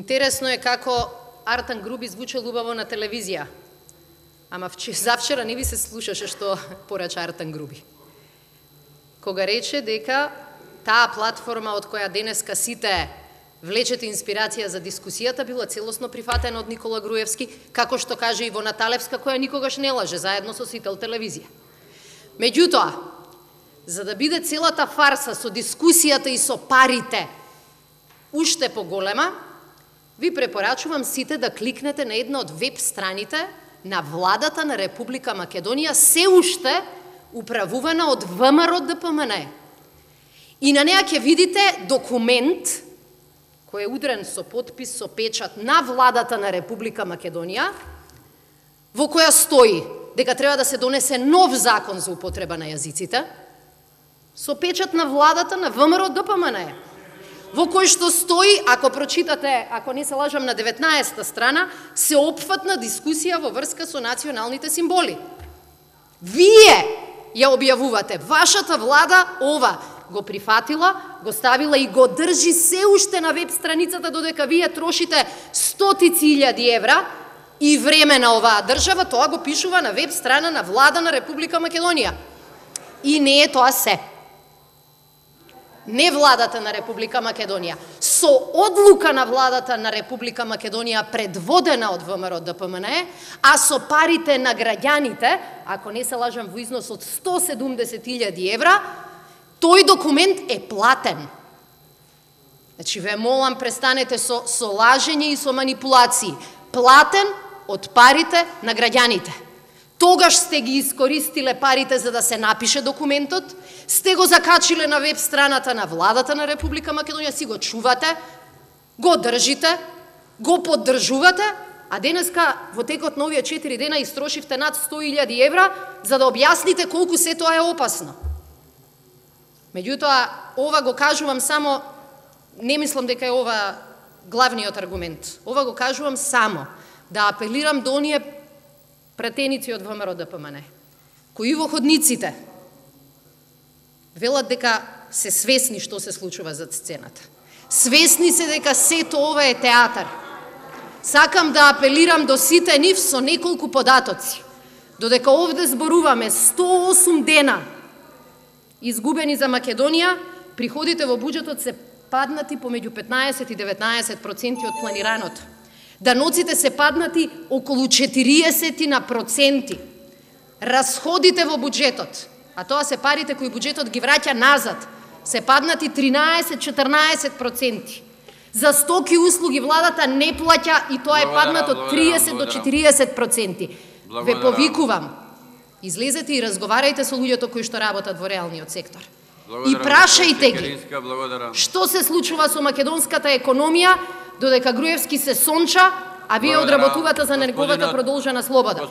Интересно е како Артан Груби звучал убаво на телевизија. Ама завчера не ви се слушаше што порача Артан Груби. Кога рече дека таа платформа од која денеска сите влечете инспирација за дискусијата била целосно прифатена од Никола Груевски, како што каже Ивона Талевска, која никогаш не лаже, заедно со Сител телевизија. Меѓутоа, за да биде целата фарса со дискусијата и со парите уште поголема, ви препорачувам сите да кликнете на една од веб страните на владата на Република Македонија, се уште управувана од ВМРО ДПМН. И на неа ќе видите документ кој е удрен со подпис, со печат на владата на Република Македонија, во која стои дека треба да се донесе нов закон за употреба на јазиците, со печат на владата на ВМРО ДПМН, во кој што стои, ако прочитате, ако не се лажам, на 19-та страна, сеопфатна дискусија во врска со националните символи. Вие ја објавувате, вашата влада ова го прифатила, го ставила и го држи се уште на веб страницата, додека вие трошите стотици илјади евра и време на оваа држава, тоа го пишува на веб страна на влада на Република Македонија. И не е тоа се. Не владата на Република Македонија, со одлука на владата на Република Македонија предводена од ВМРО ДПМН, а со парите на граѓаните, ако не се лажам, во износ од 170.000 евра, тој документ е платен. Значи, ве молам, престанете со лажење и со манипулации. Платен од парите на граѓаните. Тогаш сте ги искористиле парите за да се напише документот, сте го закачиле на веб страната на владата на Република Македонија, си го чувате, го држите, го поддржувате, а денеска во текот на овие 4 дена истрошивте над 100.000 евра за да објасните колку се тоа е опасно. Меѓутоа, ова го кажувам само, не мислам дека е ова главниот аргумент. Ова го кажувам само да апелирам до оние пратеници од ВМРО ДПМН, кои во ходниците велат дека се свесни што се случува зад сцената. Свесни се дека сето ова е театар. Сакам да апелирам до сите нив со неколку податоци. Додека овде зборуваме 108 дена изгубени за Македонија, приходите во буџетот се паднати помеѓу 15 и 19% од планираното. Даноците се паднати околу 40%. Расходите во буџетот, а тоа се парите кои буџетот ги враќа назад, се паднати 13-14%. За стоки и услуги владата не плаќа и тоа е паднато од 30 до 40%. Ве повикувам, излезете и разговарајте со луѓето кои што работат во реалниот сектор. И прашајте ги што се случува со македонската економија, додека Груевски се сонча, а вие одработувате за неговата продолжена слобода.